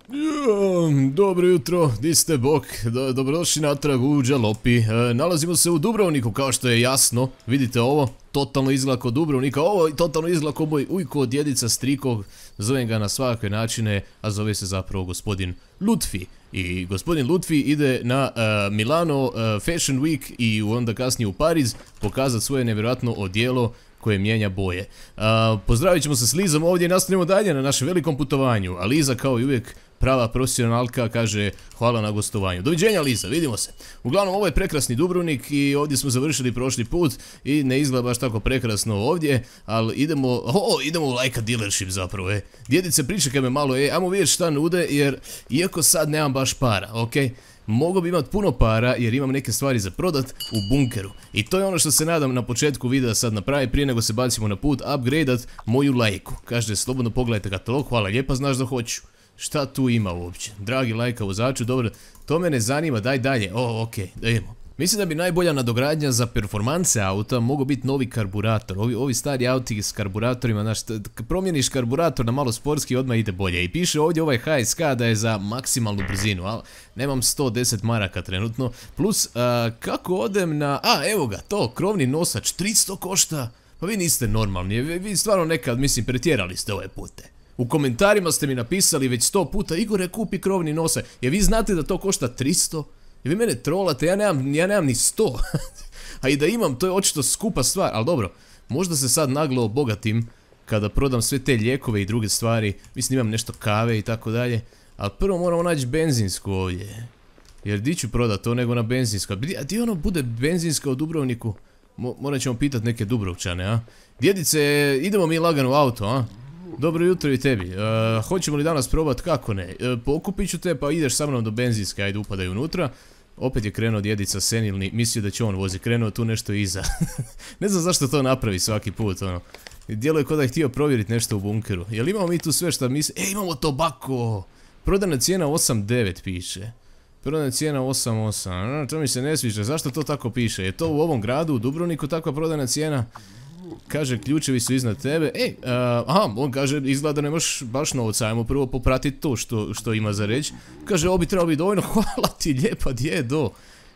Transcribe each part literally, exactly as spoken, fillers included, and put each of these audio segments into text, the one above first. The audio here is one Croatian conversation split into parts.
Jo, dobro jutro, di ste bok, Do, dobrodošli natrag u Đalopi. E, nalazimo se u Dubrovniku, kao što je jasno, vidite ovo, totalno izgleda kao Dubrovnika, ovo totalno izgleda kao moj ujko, djedica, strikog, zovem ga na svakakve načine, a zove se zapravo gospodin Lutfi. I gospodin Lutfi ide na uh, Milano uh, Fashion Week i onda kasnije u Pariz pokazati svoje nevjerojatno odijelo koje mijenja boje. Uh, pozdravit ćemo se s Lizom ovdje i nastavljamo dalje na našem velikom putovanju, a Liza kao i uvijek prava profesionalka kaže hvala na gostovanju. Doviđenja Liza, vidimo se. Uglavnom ovo je prekrasni Dubrovnik i ovdje smo završili prošli put i ne izgleda baš tako prekrasno ovdje, ali idemo, o, idemo u Lajka dealership zapravo, e. Djedice pričekaj me malo, e, ajmo vidjeti šta nude jer iako sad nemam baš para, okej. Mogu bi imat puno para jer imam neke stvari za prodat u bunkeru. I to je ono što se nadam na početku videa sad napravi prije nego se bacimo na put upgradeat moju lajku. Kažete slobodno pogledajte katalog, hvala lijepa, znaš da hoću. Šta tu ima uopće? Dragi lajka vozaču, dobro, to me ne zanima, daj dalje. O, okej, da idemo. Mislim da bi najbolja nadogradnja za performanse auta mogu biti novi karburator. Ovi, ovi stari auti s karburatorima, znaš, promijeniš karburator na malo sportski odmah ide bolje. I piše ovdje ovaj H S K da je za maksimalnu brzinu, ali nemam sto deset maraka trenutno. Plus, a, kako odem na... A, evo ga, to, krovni nosač, tristo košta. Pa vi niste normalni, vi, vi stvarno nekad, mislim, pretjerali ste ove pute. U komentarima ste mi napisali već sto puta, Igore kupi krovni nosač. Jer vi znate da to košta tristo? I vi mene trolate, ja nemam, ja nemam ni sto. A i da imam, to je očito skupa stvar. Ali dobro, možda se sad naglo obogatim kada prodam sve te lijekove i druge stvari. Mislim imam nešto kave i tako dalje. Ali prvo moramo naći benzinsku ovdje. Jer di ću prodat to nego na benzinsku. A di ono bude benzinska u Dubrovniku? Mo, morat ćemo pitat neke Dubrovčane, a? Djedice, idemo mi lagano u auto, a? Dobro jutro i tebi. Uh, hoćemo li danas probat? Kako ne? Uh, pokupit ću te pa ideš sa mnom do benzinske, ajde upadaj unutra. Opet je krenuo djedica senilni, mislio da će on vozi, krenuo tu nešto iza. Ne znam zašto to napravi svaki put, ono. Djeluje kao da je htio provjeriti nešto u bunkeru. Jel imamo mi tu sve što misli? E, imamo tobako! Prodana cijena osam devet piše. Prodana cijena osam osam, to mi se ne sviđa, zašto to tako piše? Je to u ovom gradu, u Dubrovniku, takva prodana cijena? Kaže, ključevi su iznad tebe. Ej, uh, aha, on kaže, izgleda da nemaš baš novca, ajmo prvo popratiti to što, što ima za reći. Kaže, ovo bi trebalo biti dovoljno, hvala ti lijepa, djedo.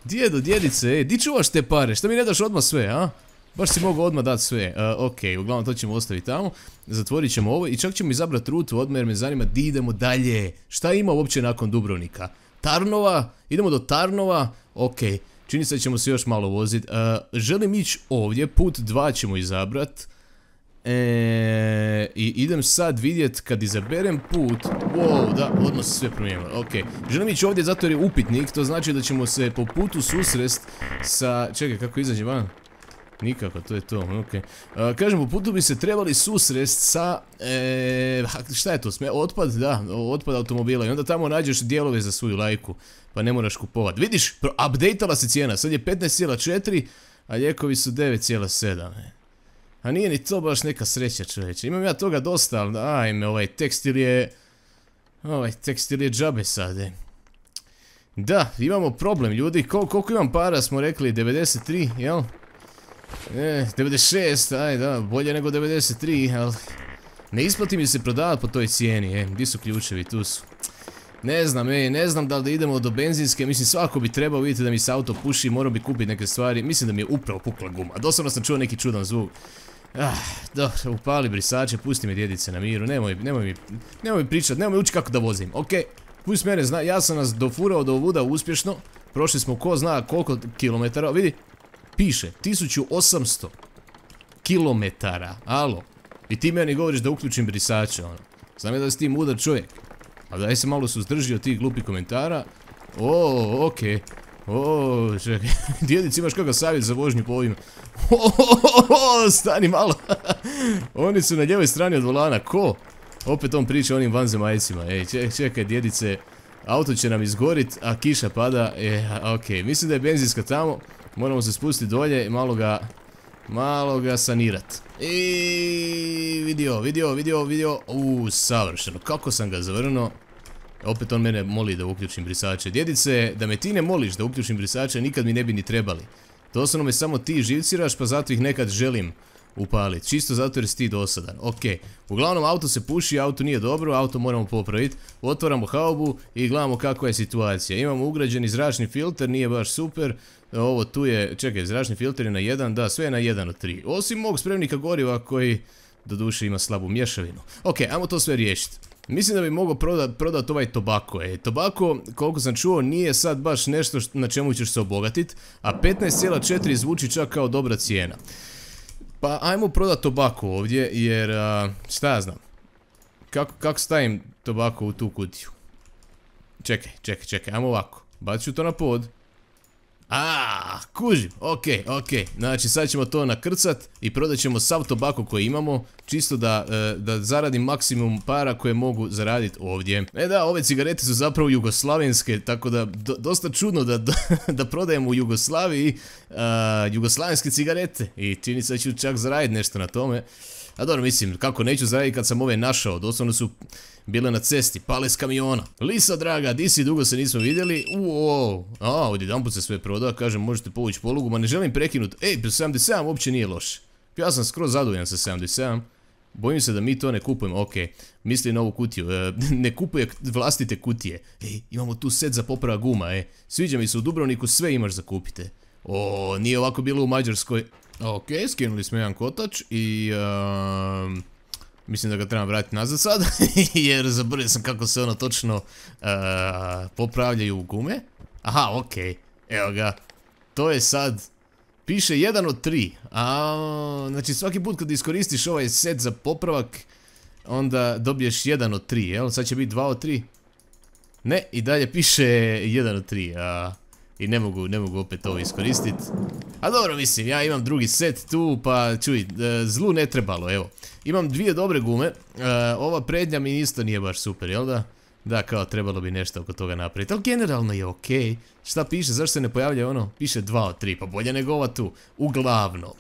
Djedo, djedice, ej, di čuvaš te pare, šta mi ne daš odmah sve, a? Baš si mogu odmah dati sve, uh, ok, uglavnom to ćemo ostaviti tamo. Zatvorit ćemo ovo i čak ćemo izabrati rutu odmah jer me zanima di idemo dalje. Šta ima uopće nakon Dubrovnika? Tarnova, idemo do Tarnova, ok. Čini se da ćemo se još malo voziti. Uh, želim ići ovdje, put dva ćemo izabrat. E, I idem sad vidjet kad izaberem put. Wow, da, odmah se sve promijenilo. Ok, želim ići ovdje zato jer je upitnik. To znači da ćemo se po putu susrest sa... Čekaj, kako izađe van? Nikako, to je to, ok. Uh, kažem, po putu bi se trebali susrest sa... E, šta je to? Sme, otpad, da, otpad automobila. I onda tamo nađeš dijelove za svoju lajku. Pa ne moraš kupovat. Vidiš, updateala se cijena. Sad je petnaest zarez četiri, a lijekovi su devet zarez sedam. A nije ni to baš neka sreća, čovječe. Imam ja toga dosta, ali ajme, ovaj tekstil je... Ovaj tekstil je džabe sad, e. Da, imamo problem, ljudi. Kol, koliko imam para, smo rekli, devedeset tri, jel? E, devedeset šest, aj da, bolje nego devedeset tri, ali... Ne isplati mi se prodavati po toj cijeni, e. Gdje su ključevi, tu su. Ne znam, ej, ne znam da li da idemo do benzinske, mislim svako bi trebao vidjeti da mi se auto puši, morao bi kupiti neke stvari, mislim da mi je upravo pukla guma, doslovno sam čuo neki čudan zvuk. Ah, dobro, upali brisače, pusti me djedice na miru, nemoj, nemoj mi, nemoj mi pričat, nemoj mi ući kako da vozim, okej, pusti mene, zna, ja sam nas dofurao do ovuda uspješno, prošli smo ko zna koliko kilometara, vidi, piše, tisuću osamsto kilometara, alo, i ti meni govoriš da uključim brisače, ono, znam je da si ti mudar čovjek. A daj se malo suzdrži od tih glupih komentara. O, okej. O, čekaj. Djedici imaš kakav savjet za vožnju po ovim. O, stani malo. Oni su na ljevoj strani od volana. Ko? Opet on priča o onim vanzemaljcima. Ej, čekaj, čekaj, djedice. Auto će nam izgorit, a kiša pada. E, okej. Mislim da je benzinska tamo. Moramo se spustiti dolje i malo ga... Malo ga sanirat. I vidio, vidio, vidio, vidio. Uuu, savršeno. Kako sam ga zavrnuo. Opet on mene moli da uključim brisače. Djedice, da me ti ne moliš da uključim brisače, nikad mi ne bi ni trebali. Doslovno me samo ti živciraš, pa zato ih nekad želim upaliti. Čisto zato jer si ti dosadan. Ok, uglavnom auto se puši, auto nije dobro, auto moramo popraviti. Otvaramo haubu i gledamo kakva je situacija. Imamo ugrađeni zračni filter, nije baš super. Ovo tu je, čekaj, zračni filter je na jedan, da, sve je na jedan od tri. Osim mog spremnika goriva koji doduše ima slabu mješavinu. Ok, ajmo to sve riješiti. Mislim da bi mogao prodat, prodat ovaj tobako. E, tobako, koliko sam čuo, nije sad baš nešto na čemu ćeš se obogatiti, a petnaest zarez četiri zvuči čak kao dobra cijena. Pa ajmo prodat tobako ovdje, jer a, šta ja znam. Kako, kako stavim tobako u tu kutiju? Čekaj, čekaj, čekaj, ajmo ovako. Bacit ću to na pod. Aaaa, kužim, ok, ok. Znači sad ćemo to nakrcat i prodat ćemo sav tobako koji imamo, čisto da, da zaradim maksimum para koje mogu zaraditi ovdje. E da, ove cigarete su zapravo jugoslavenske, tako da do, dosta čudno da, da, da prodajemo u Jugoslaviji uh, jugoslavenske cigarete. I čini se da ću čak zaraditi nešto na tome. A dobro, mislim, kako neću zaraditi kad sam ove našao, doslovno su bile na cesti, pale s kamiona. Lisa draga, di si, dugo se nismo vidjeli. Uuu, a, odjedanput se sve proda, kažem možete povući polugu, ma ne želim prekinuti. Ej, sedamdeset sedam uopće nije loše. Ja sam skroz zadovoljan sa sedamdeset sedam. Bojim se da mi to ne kupujemo, ok. Misli na ovu kutiju, e, ne kupuje vlastite kutije. Ej, imamo tu set za poprava guma, e. Sviđa mi se, u Dubrovniku sve imaš za kupite. O, nije ovako bilo u Mađarskoj. Ok, skinuli smo jedan kotač i... Um, mislim da ga trebam vratiti nazad sad, jer zaboravio sam kako se ono točno uh, popravljaju gume. Aha, ok, evo ga. To je sad... Piše jedan od tri. A, znači svaki put kad iskoristiš ovaj set za popravak, onda dobiješ jedan od tri, jel? Sad će biti dva od tri. Ne, i dalje piše jedan od tri, a... I ne mogu, ne mogu opet ovo iskoristiti. A dobro, mislim, ja imam drugi set tu, pa čuj, zlu ne trebalo, evo. Imam dvije dobre gume, ova prednja mi isto nije baš super, jel da? Da, kao trebalo bi nešto oko toga napraviti, ali generalno je okej. Šta piše, zašto se ne pojavlja ono? Piše dva od tri, pa bolje nego ova tu. Uglavnom,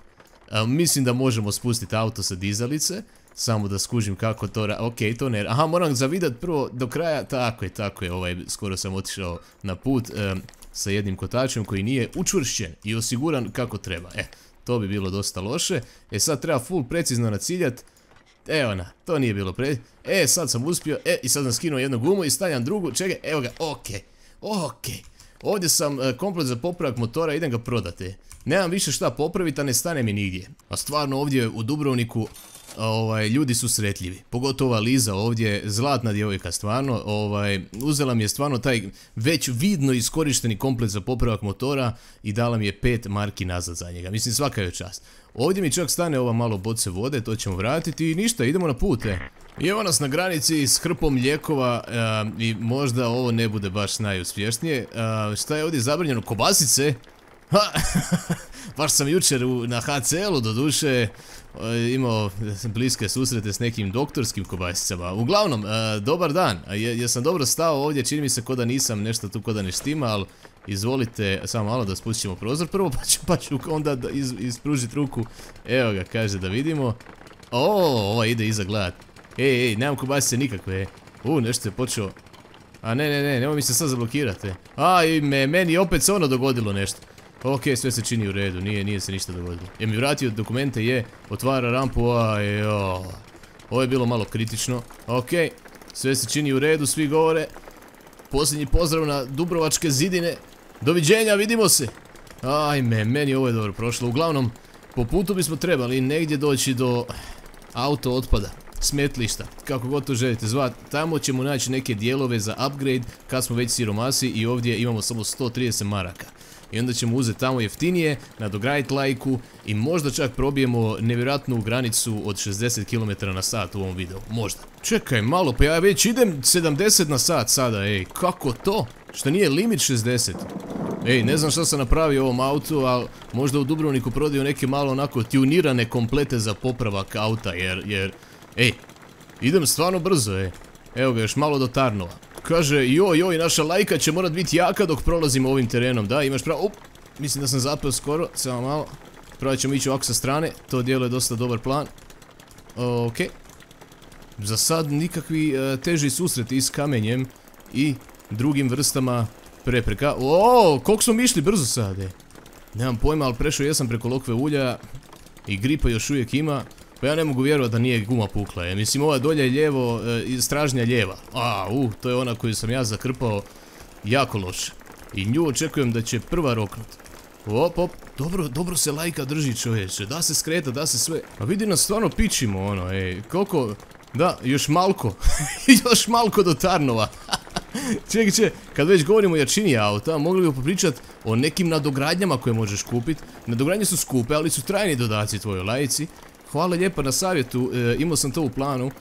mislim da možemo spustiti auto sa dizalice. Samo da skužim kako to ra... Ok, to ne... Aha, moram zavidat prvo do kraja. Tako je, tako je, ovaj, skoro sam otišao na put e, sa jednim kotačem koji nije učvršćen i osiguran kako treba. E, to bi bilo dosta loše. E, sad treba full precizno naciljat. Evo na, to nije bilo pre... E, sad sam uspio, e, i sad sam skinuo jednu gumu i stavljam drugu. Čekaj, evo ga, ok, ok. Ovdje sam e, komplet za popravak motora, idem ga prodati. Nemam više šta popraviti, a ne stane mi nigdje. A stvarno ovdje u Dubrovniku... Ovaj, ljudi su sretljivi, pogotovo Liza ovdje, zlatna djevojka stvarno, ovaj, uzela mi je stvarno taj već vidno iskorišteni komplet za popravak motora i dala mi je pet marki nazad za njega, mislim svaka je čast. Ovdje mi čak stane ova malo boce vode, to ćemo vratiti i ništa, idemo na put, e. I evo nas na granici s hrpom lijekova uh, i možda ovo ne bude baš najuspješnije. Uh, šta je ovdje zabranjeno? Kobasice? Ha, baš sam jučer u, na ha ce elu do duše imao bliske susrete s nekim doktorskim kobasicama. Uglavnom, uh, dobar dan, jesam dobro stao ovdje, čini mi se ko da nisam nešto tu ko da ne štima, ali izvolite, samo malo da spustimo prozor prvo, pa ću, pa ću onda iz, ispružiti ruku. Evo ga, kaže da vidimo. O, ova ide iza gledat. Ej, ej, nemam kobasice nikakve. U, nešto je počeo. A ne, ne, ne, nemoj mi se sad zablokirati. A, i me, meni opet se ono dogodilo nešto. Ok, sve se čini u redu, nije, nije se ništa dogodilo. Je mi vratio dokumente, je, otvara rampu, ajo. Ovo je bilo malo kritično. Ok, sve se čini u redu, svi govore. Posljednji pozdrav na Dubrovačke zidine. Doviđenja, vidimo se. Ajme, meni ovo je dobro prošlo. Uglavnom, po putu bismo trebali negdje doći do auto otpada, smetlišta, kako god to želite zvati. Tamo ćemo naći neke dijelove za upgrade kad smo već siromasi i ovdje imamo samo sto trideset maraka. I onda ćemo uzeti tamo jeftinije, nadograditi lajku i možda čak probijemo nevjerojatnu granicu od šezdeset kilometara na sat u ovom videu. Možda. Čekaj malo, pa ja već idem sedamdeset na sat sada, ej, kako to? Što nije limit šezdeset? Ej, ne znam šta sam napravio ovom autu, ali možda u Dubrovniku prodaju neke malo onako tunirane komplete za popravak auta, jer, jer, ej, idem stvarno brzo, ej. Evo ga, još malo do Tarnova. Kaže, joj, joj, naša lajka će morat biti jaka dok prolazimo ovim terenom, da, imaš pravo, up, mislim da sam zapeo skoro, samo malo, pravo ćemo ići ovako sa strane, to dijelo je dosta dobar plan, ok, za sad nikakvi uh, teži susreti s kamenjem i drugim vrstama prepreka, ooo, koliko smo mi išli brzo sad, e. Nemam pojma, ali prešao jesam preko lokve ulja I gripa još uvijek ima. Pa ja ne mogu vjerovati da nije guma pukla. Je. Mislim, ova dolje je lijevo, e, stražnja lijeva. A, uh, to je ona koju sam ja zakrpao jako loše. I nju očekujem da će prva roknut. Op, op, dobro, dobro se lajka drži, čovječe. Da se skreta, da se sve. A vidi nas stvarno pičimo, ono, ej. Koliko, da, još malko. Još malko do Tarnova. Čekaj, čekaj, kad već govorimo o jačini auta, mogli bi popričat o nekim nadogradnjama koje možeš kupiti. Nadogradnje su skupe, ali su trajni dodaci tvojoj lajci. Hvala lijepa na savjetu, e, imao sam to u planu.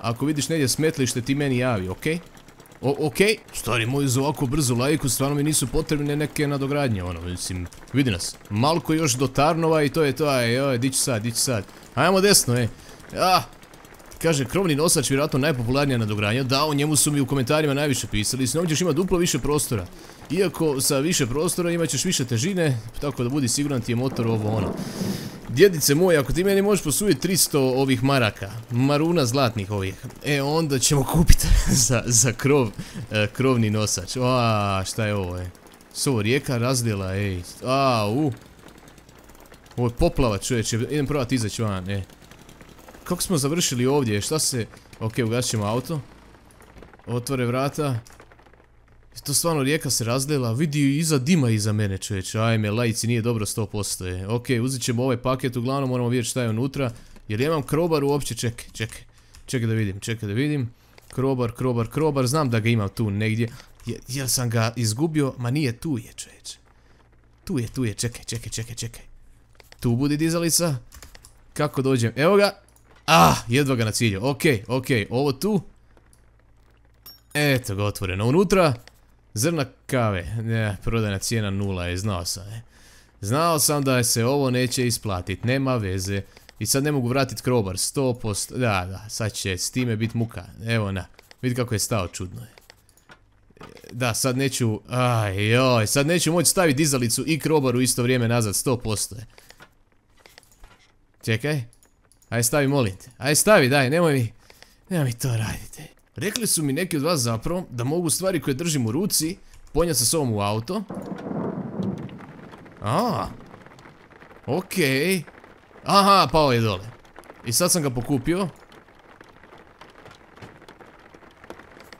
Ako vidiš negdje smetlište, ti meni javi, okej? Okay? Okej, okay. Stari moj, za ovako brzu lajku stvarno mi nisu potrebne neke nadogradnje, ono, mislim, vidi nas. Malko još do Tarnova i to je to, aj, aj, di ću sad, di ću sad. Ajmo desno, ej. Ah, kaže, krovni nosač, vjerojatno najpopularnija nadogradnja. Da, o njemu su mi u komentarima najviše pisali. S njom ćeš imati duplo više prostora. Iako sa više prostora imat ćeš više težine, tako da budi siguran ti je motor ovo ono. Djedice moje, ako ti meni možeš posuditi tristo ovih maraka, maruna zlatnih ovih, e onda ćemo kupiti za, za krov, e, krovni nosač. A, šta je ovo, e? S ovo rijeka razdjela, ej. A, u. Ovo je poplava, čovječe, idem probati izaći van, e. Kako smo završili ovdje, šta se... Ok, ugasit ćemo auto. Otvore vrata. To stvarno rijeka se razdjela, vidi iza dima iza mene, čovječe, ajme, lajci, nije dobro sto posto je. Ok, uzet ćemo ovaj paket, uglavnom moramo vidjeti šta je unutra. Jer ja imam krobar uopće, čekaj, čekaj, čekaj da vidim, čekaj da vidim. Krobar, krobar, krobar, znam da ga imam tu negdje. Jer sam ga izgubio, ma nije, tu je, čovječe. Tu je, tu je, čekaj, čekaj, čekaj, čekaj. Tu budi dizalica. Kako dođem, evo ga. Ah, jedva ga na cilju, ok, ok, ovo tu. Eto ga otvoreno, unutra. Zrna kave, ne, prodajna cijena nula je, znao sam, e. Znao sam da se ovo neće isplatit, nema veze. I sad ne mogu vratit krobar, sto posto, da, da, sad će s time bit muka, evo na, vidi kako je stao, čudno je. Da, sad neću, aj joj, sad neću moći staviti dizalicu i krobar u isto vrijeme nazad, sto posto je. Čekaj, aj stavi, molim te, aj stavi, daj, nemoj mi, nemoj mi to radite. Rekli su mi neki od vas zapravo da mogu stvari koje držim u ruci ponijeti sa sobom u auto. A, okej. Aha, pao je dole. I sad sam ga pokupio.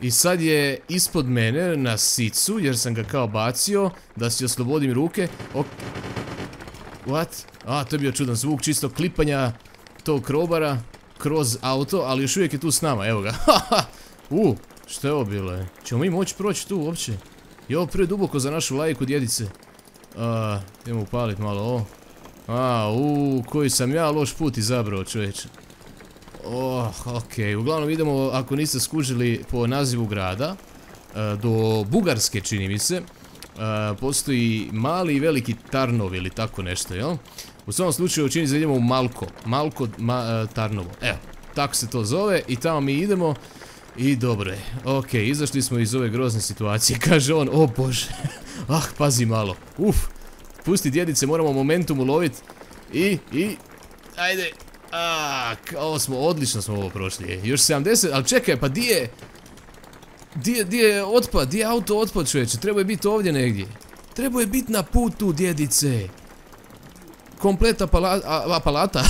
I sad je ispod mene na sicu jer sam ga kao bacio da si oslobodim ruke. Ok. What? A, to je bio čudan zvuk čisto klipanja tog krobara kroz auto, ali još uvijek je tu s nama, evo ga. Haha. U, što je ovo bilo, je? Ćemo mi moći proći tu uopće? Je ovo prije duboko za našu lajku, djedice. A, idemo upalit malo ovo. A, u, koji sam ja loš put izabrao, čovječe. Oh, okej, uglavnom idemo, ako niste skužili po nazivu grada, do Bugarske, čini mi se. Postoji mali i veliki Tarnov ili tako nešto, jel? U svom slučaju čini se da idemo u Malko. Malko Tarnovo, evo, tako se to zove i tamo mi idemo. I dobro je, ok, izašli smo iz ove grozne situacije, kaže on, o bože, ah, pazi malo, uf, pusti djedice, moramo momentum ulovit, i, i, ajde, aaa, ovo smo, odlično smo ovo prošli, još sedamdeset, ali čekaj, pa di je, di je, di je otpad, di je auto otpad, čovječe, treba je biti ovdje negdje, treba je biti na putu, djedice. Kompleta palata,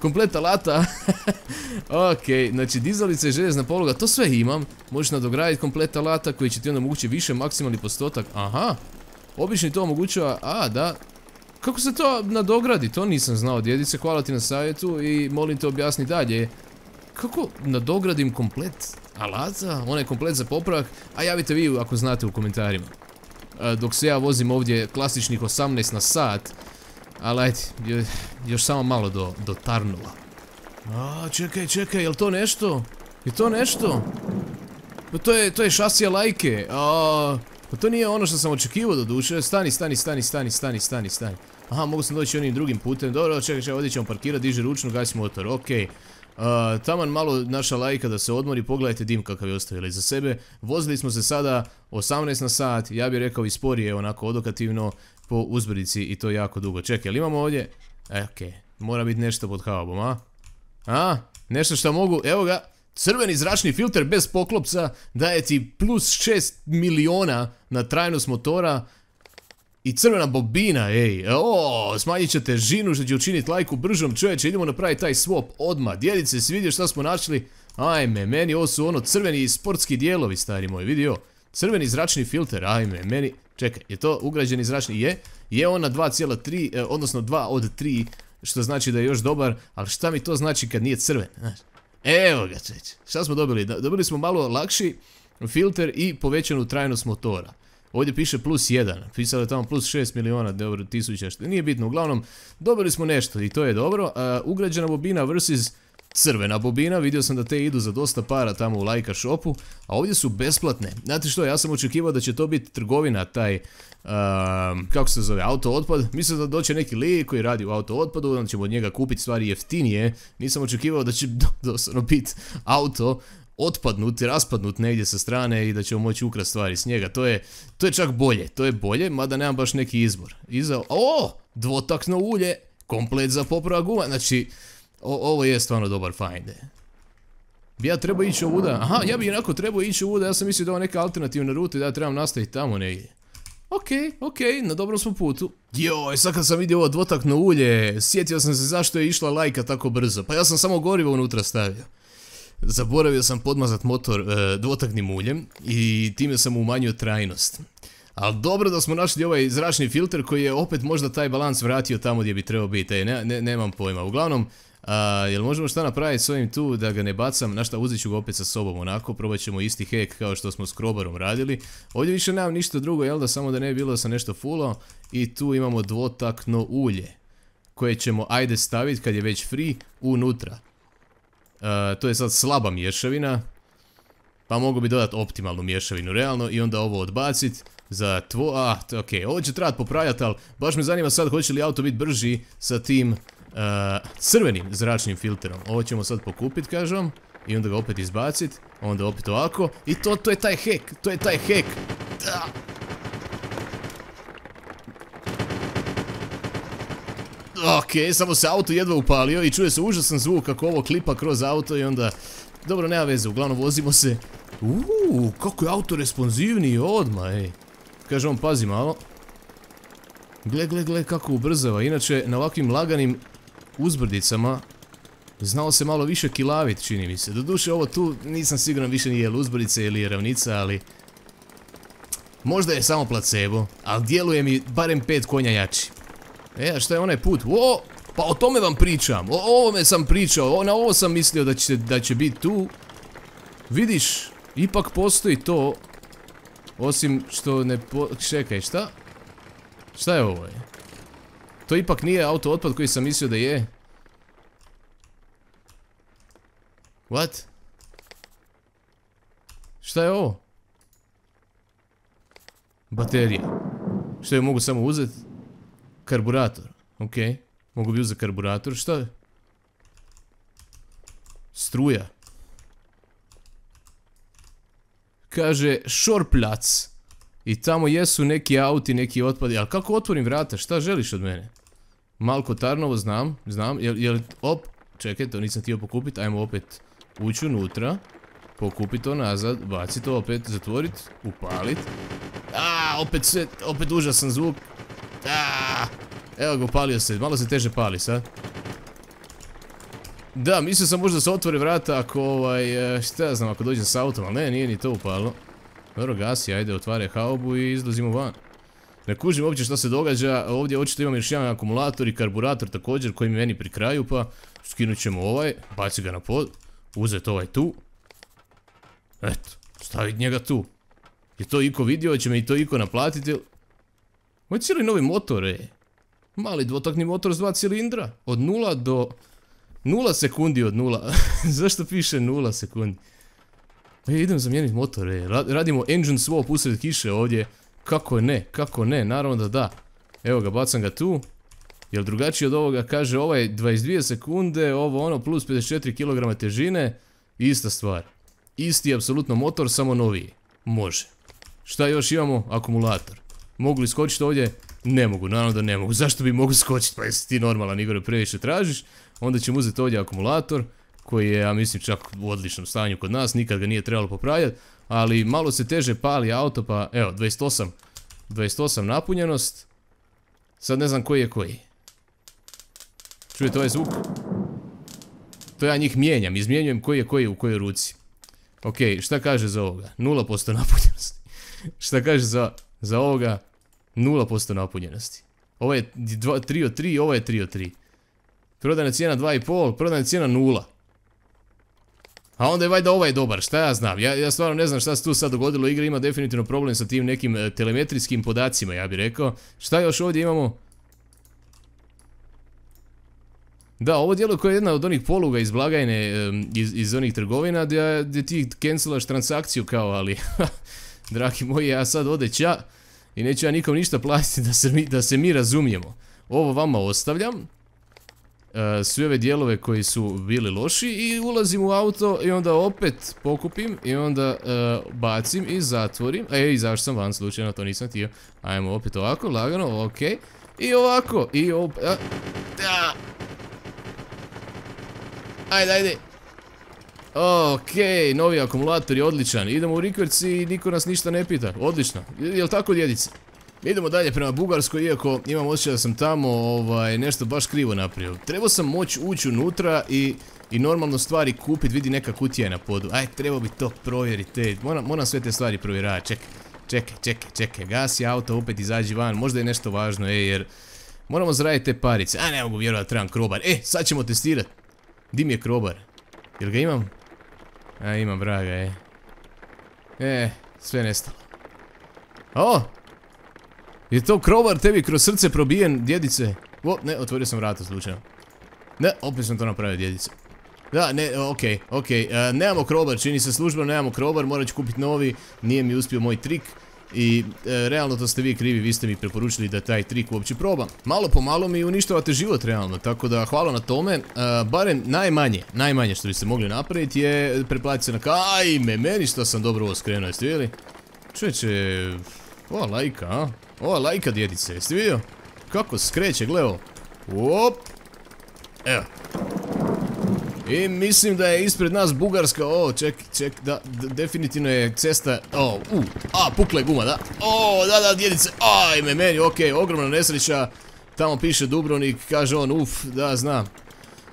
kompleta lata. Ok, znači dizalica i željezna poluga, to sve imam. Možeš nadograditi kompleta lata koji će ti onda omogućiti više maksimalni postotak. Aha, obični to omogućava, a da. Kako se to nadogradi, to nisam znao, djedice, hvala ti na savjetu i molim te objasni dalje. Kako nadogradim komplet alata, onaj komplet za popravak, a javite vi ako znate u komentarima. Dok se ja vozim ovdje klasičnih osamnaest na sat. Ali ajde, još samo malo do, do Tarnova. A, čekaj, čekaj, jel to nešto? Je to nešto? Pa to je, to je šasija lajke. A, pa to nije ono što sam očekivao do duše. Stani, stani, stani, stani, stani, stani, stani. Aha, mogu sam doći onim drugim putem. Dobro, čekaj, čekaj, ovdje ćemo parkirati, diže ručnu, gasi motor, okej. Uh, taman malo naša lajka da se odmori, pogledajte dim kakav je ostavila iza sebe. Vozili smo se sada osamnaest na sat, ja bih rekao i sporije, onako odokativno po uzbrdici i to jako dugo. Čekaj, ali imamo ovdje? E, okej, okay. Mora biti nešto pod haubom, a? A? Nešto što mogu, evo ga, crveni zračni filter bez poklopca daje ti plus šest miliona na trajnost motora. I crvena bobina, ej, o, smanjit će težinu što će učiniti lajku bržom, čovječe, idemo napraviti taj swap odmah. Djelice, si vidio šta smo našli? Ajme, meni ovo su ono crveni sportski dijelovi, stari moj, vidio? Crveni zračni filter, ajme, meni, čekaj, je to ugrađeni zračni, je? Je on na dva zarez tri, odnosno dva od tri, što znači da je još dobar, ali šta mi to znači kad nije crven, znaš? Evo ga, čeće, šta smo dobili? Dobili smo malo lakši filter i povećanu trajnost motora. Ovdje piše plus jedan, pisalo je tamo plus šest miliona dobro, tisuća, što nije bitno, uglavnom dobili smo nešto i to je dobro. Uh, ugrađena bobina versus crvena bobina, vidio sam da te idu za dosta para tamo u Laika shopu, a ovdje su besplatne. Znate što, ja sam očekivao da će to biti trgovina, taj, uh, kako se zove, auto otpad. Mislim da doće neki lik koji radi u auto otpadu, onda ćemo od njega kupiti stvari jeftinije. Nisam očekivao da će doslovno biti auto otpadnut i raspadnut negdje sa strane i da ćemo moći ukrasti stvari s njega. To je, to je čak bolje, to je bolje, mada nemam baš neki izbor. Iza, o, dvotakno ulje, komplet za popravak guma, znači, o, ovo je stvarno dobar find. Bi ja trebao ići ovuda, aha, ja bi inako trebao ići ovuda, ja sam mislio da je ovo neka alternativna ruta i da ja trebam nastaviti tamo negdje. Okej, okej, na dobrom smo putu. Joj, sad kad sam vidio ovo dvotakno ulje, sjetio sam se zašto je išla Lajka tako brzo, pa ja sam samo gorivo unutra stavio. Zaboravio sam podmazat motor e, dvotaknim uljem i time sam umanjio trajnost. Ali dobro da smo našli ovaj zračni filter koji je opet možda taj balans vratio tamo gdje bi trebao biti. E, ne, ne, nemam pojma. Uglavnom, a, jel možemo šta napraviti s ovim tu da ga ne bacam? Na šta, uzet ću ga opet sa sobom onako. Probat ćemo isti hack kao što smo s Krobarom radili. Ovdje više nemam ništa drugo, jel da, samo da ne bi bilo da sam nešto fulao. I tu imamo dvotakno ulje koje ćemo ajde staviti kad je već free unutra. Uh, to je sad slaba mješavina, pa mogu bi dodati optimalnu mješavinu realno i onda ovo odbaciti za tvo... Ah, ok, ovo će trebati popravljati, ali baš me zanima sad hoće li auto biti brži sa tim uh, crvenim zračnim filterom. Ovo ćemo sad pokupiti, kažem, i onda ga opet izbaciti, onda opet ovako i to, to je taj hack, to je taj hack. Da. Ok, samo se auto jedva upalio i čuje se užasan zvuk kako ovo klipa kroz auto i onda... Dobro, nema veze, uglavnom vozimo se... Uuu, kako je auto responsivniji odmah, ej. Kaže on, pazi malo. Gle, gle, gle kako ubrzava. Inače, na ovakvim laganim uzbrdicama znao se malo više kilavit, čini mi se. Doduše, ovo tu nisam siguran više nije uzbrdice ili je ravnica, ali... Možda je samo placebo, ali djeluje mi barem pet konja jači. E, a šta je onaj put? O, pa o tome vam pričam. O ovome sam pričao. O, na ovo sam mislio da će, da će biti tu. Vidiš, ipak postoji to. Osim što ne po... Čekaj, šta? Šta je ovo? To ipak nije auto otpad koji sam mislio da je. What? Šta je ovo? Baterija. Što je mogu samo uzeti? Karburator, ok, mogu bi uzeti karburator, šta je? Struja. Kaže, šorplac. I tamo jesu neki auti, neki otpadi, ali kako otvorim vrata, šta želiš od mene? Malko Tarnovo, znam, znam, jel, jel, op, čekaj, to nisam htio pokupiti, ajmo opet ući unutra, pokupiti to nazad, baciti to opet, zatvoriti, upaliti. Aaaa, opet sve, opet užasan zvuk. Aaaa, evo ga, upalio se, malo se teže pali sad. Da, mislio sam možda se otvore vrata ako ovaj, šta ja znam, ako dođem s autom, ali ne, nije ni to upalo. Dobro, gasi, ajde, otvare haubu i izlazimo van. Ne kužim uopće šta se događa, ovdje očito imam još jedan akumulator i karburator također koji mi meni pri kraju, pa skinut ćemo ovaj, baci ga na pod, uzeti ovaj tu. Eto, staviti njega tu. Je to iko vidio, će me i to iko naplatiti? Ovo je cijeli novi motor, ej. Mali dvotakni motor s dva cilindra. Od nula do... nula sekundi od nula. Zašto piše nula sekundi? E, idem zamijeniti motor, ej. Radimo engine swap usred kiše ovdje. Kako ne, kako ne, naravno da da. Evo ga, bacam ga tu. Jer drugačije od ovoga kaže ovaj dvadeset dvije sekunde, ovo ono plus pedeset četiri kilograma težine. Ista stvar. Isti apsolutno motor, samo noviji. Može. Šta još imamo? Akumulator. Mogu li skočiti ovdje? Ne mogu, naravno da ne mogu. Zašto bi mogu skočiti? Pa jesi ti normalan, Igor, previše tražiš. Onda ćemo uzeti ovdje akumulator, koji je, ja mislim, čak u odličnom stanju kod nas. Nikad ga nije trebalo popravljati. Ali malo se teže pali auto, pa evo, dvadeset osam. dvadeset osam napunjenost. Sad ne znam koji je koji. Čujete ovaj zvuk? To ja njih mijenjam, izmijenjujem koji je koji u kojoj ruci. Ok, šta kaže za ovoga? nula posto napunjenosti. Šta kaže za, za ovoga? nula posto napunjenosti. Ovo je tri od tri, ovo je tri od tri. Prodajna cijena dva i pol, prodajna cijena nula. A onda je valjda ovaj dobar, šta ja znam, ja, ja stvarno ne znam šta se tu sad dogodilo, igra ima definitivno problem sa tim nekim e, telemetrijskim podacima, ja bih rekao. Šta još ovdje imamo? Da, ovo djeluje kao jedna od onih poluga iz blagajne, e, iz, iz onih trgovina gdje, gdje ti cancelaš transakciju kao, ali, dragi moji, ja sad ode ća i neću ja nikom ništa platiti da se mi, da se mi razumijemo. Ovo vama ostavljam. Uh, sve ove dijelove koji su bili loši i ulazim u auto i onda opet pokupim i onda uh, bacim i zatvorim. E, izašao sam van slučajno, to nisam htio. Ajmo opet ovako, lagano, ok. I ovako, i opet... Da. Ajde, ajde. Ok, novi akumulator je odličan. Idemo u rikverc i niko nas ništa ne pita. Odlično. Jel tako, djedice? Idemo dalje prema Bugarskoj, iako imam osjećaj da sam tamo ovaj, nešto baš krivo napravio. Trebao sam moći ući unutra i, i normalno stvari kupiti, vidi neka kutija je na podu. Aj, trebao bi to provjeriti, moram, moram sve te stvari provjerati, čekaj, čekaj, čekaj, čekaj, gasi auto, opet izađi van, možda je nešto važno, ej, jer moramo zaraditi te parice. A, ne mogu vjerovati da trebam krobar, e, sad ćemo testirati. Di mi je krobar? Jel ga imam? A, imam, vraga, e. E, sve nestalo. O! Je to krobar tebi kroz srce probijen, djedice? O, ne, otvorio sam vrata slučajno. Ne, opet sam to napravio, djedice. Da, ne, okej, okej, nemamo krobar, čini se službeno, nemamo krobar, morat ću kupiti novi, nije mi uspio moj trik. I e, realno to ste vi krivi, vi ste mi preporučili da taj trik uopće probam. Malo po malo mi uništavate život realno, tako da hvala na tome. E, barem najmanje, najmanje što biste mogli napraviti je preplatiti se na ka... Ajme, meni što sam dobro ovo skrenuo, jeste vidjeli? Čovječe, ova lajka, a? Ova lajka, djedice, jeste vidio? Kako skreće, gleo. Op. Evo. I mislim da je ispred nas Bugarska. O, ček, ček, da, definitivno je cesta. O, u, a, pukla je guma, da. O, da, da, djedice, ajme, meni, okej, ogromna nesreća. Tamo piše Dubrovnik, kaže on, uf, da, znam.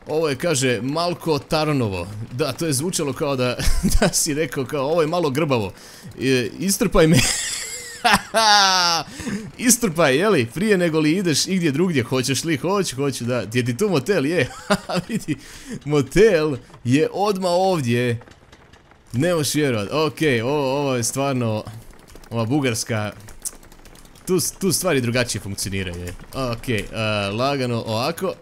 Ovo je, kaže, Malko Tarnovo. Da, to je zvučalo kao da, da si rekao kao, ovo je malo grbavo. E, istrpaj me. Istrpaj, jeli, prije nego li ideš igdje drugdje, hoćeš li, hoću, hoću, da, je ti tu motel, je, vidi, motel je odmah ovdje, ne možeš vjerovat, okej, ovo, ovo je stvarno, ova Bugarska, tu, tu stvari drugačije funkcioniraju, okej, uh, lagano ovako,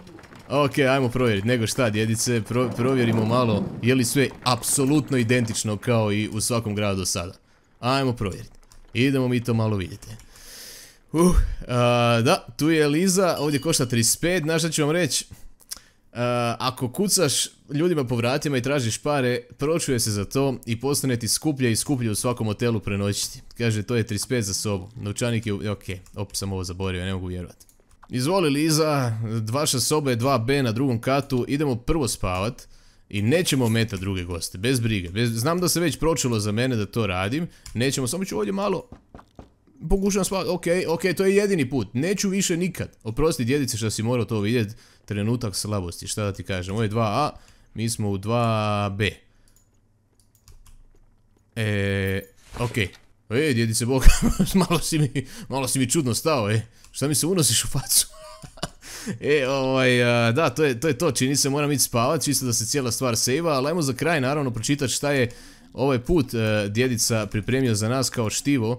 okej, ajmo provjeriti, nego šta djedice, pro, provjerimo malo, je li sve apsolutno identično kao i u svakom gradu do sada, ajmo provjeriti. Idemo mi to malo vidjeti. Uh, uh, da, tu je Eliza, ovdje košta trideset pet, znaš šta ću vam reći? Uh, ako kucaš ljudima po vratima i tražiš pare, pročuje se za to i postane ti skuplje i skuplje u svakom hotelu prenoćiti. Kaže, to je trideset pet za sobu. Novčanik je, ok, opet sam ovo zaboravio, ne mogu vjerovati. Izvoli Liza, vaša soba je dva be na drugom katu, idemo prvo spavat. I nećemo ometati druge goste, bez brige, bez, znam da se već pročulo za mene da to radim. Nećemo, samo ću ovdje malo pokušam spavati, okej, okej, to je jedini put. Neću više nikad, oprosti djedice što si morao to vidjeti. Trenutak slabosti, šta da ti kažem. Ovo je dva a, mi smo u dva be. Eee, okej. E, djedice Boga, malo si mi, malo si mi čudno stao, e. Šta mi se unosiš u facu? E, ovaj, da, to je, to je to, čini se, moram ići spavat, čisto da se cijela stvar sejva, ali ajmo za kraj naravno pročitati šta je ovaj put uh, djedica pripremio za nas kao štivo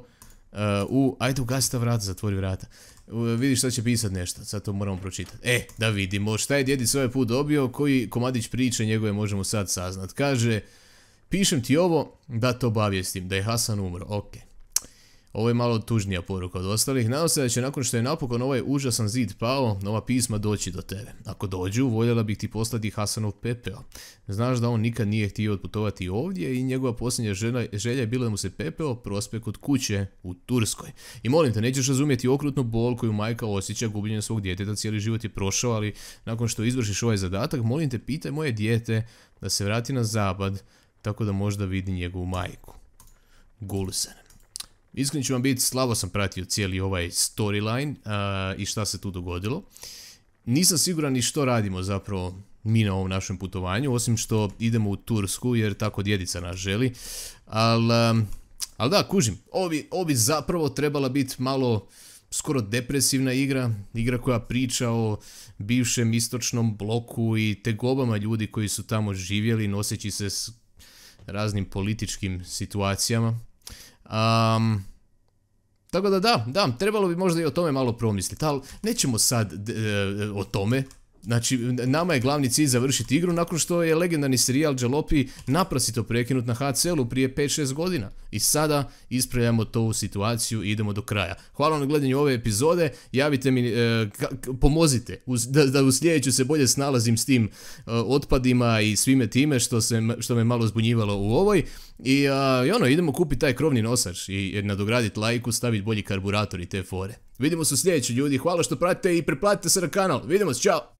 uh, u, ajde ugasi ta vrata, zatvori vrata, uh, vidi šta će pisat nešto, sad to moramo pročitati. E, da vidimo šta je djedica ovaj put dobio, koji komadić priče njegove možemo sad saznat. Kaže, pišem ti ovo da te obavijestim, da je Hasan umro, okej. Ovo je malo tužnija poruka od ostalih. Nadam se da će nakon što je napokon ovaj užasan zid pao, nova pisma doći do tebe. Ako dođu, voljela bih ti poslati Hasanov pepeo. Znaš da on nikad nije htio otputovati ovdje i njegova posljednja želja, želja je bila da mu se pepeo prospe kod kuće u Turskoj. I molim te, nećeš razumjeti okrutnu bol koju majka osjeća gubljenjem svog djeteta, cijeli život je prošao, ali nakon što izvršiš ovaj zadatak, molim te, pitaj moje dijete da se vrati na zapad, tako da možda vidi njegovu majku. Gulsen. Iskren ću vam biti, slabo sam pratio cijeli ovaj storyline uh, i šta se tu dogodilo. Nisam siguran ni što radimo zapravo mi na ovom našem putovanju, osim što idemo u Tursku jer tako djedica nas želi. Ali um, al da, kužim, ovo bi, ovo bi zapravo trebala biti malo skoro depresivna igra, igra koja priča o bivšem istočnom bloku i tegobama ljudi koji su tamo živjeli noseći se s raznim političkim situacijama. Um, tako da da, da, trebalo bi možda i o tome malo promisliti, ali nećemo sad e, o tome. Znači, nama je glavni cilj završiti igru nakon što je legendarni serijal Jalopy naprasito prekinut na H C L-u prije pet šest godina. I sada ispravljamo to u situaciju i idemo do kraja. Hvala na gledanju ove epizode, javite mi, e, pomozite uz, da, da u sljedeću se bolje snalazim s tim e, otpadima i svime time što, se, što me malo zbunjivalo u ovoj. I, a, i ono, idemo kupiti taj krovni nosač i nadograditi lajku, staviti bolji karburator i te fore. Vidimo se u sljedeću, ljudi, hvala što pratite i preplatite se na kanal. Vidimo se, čao!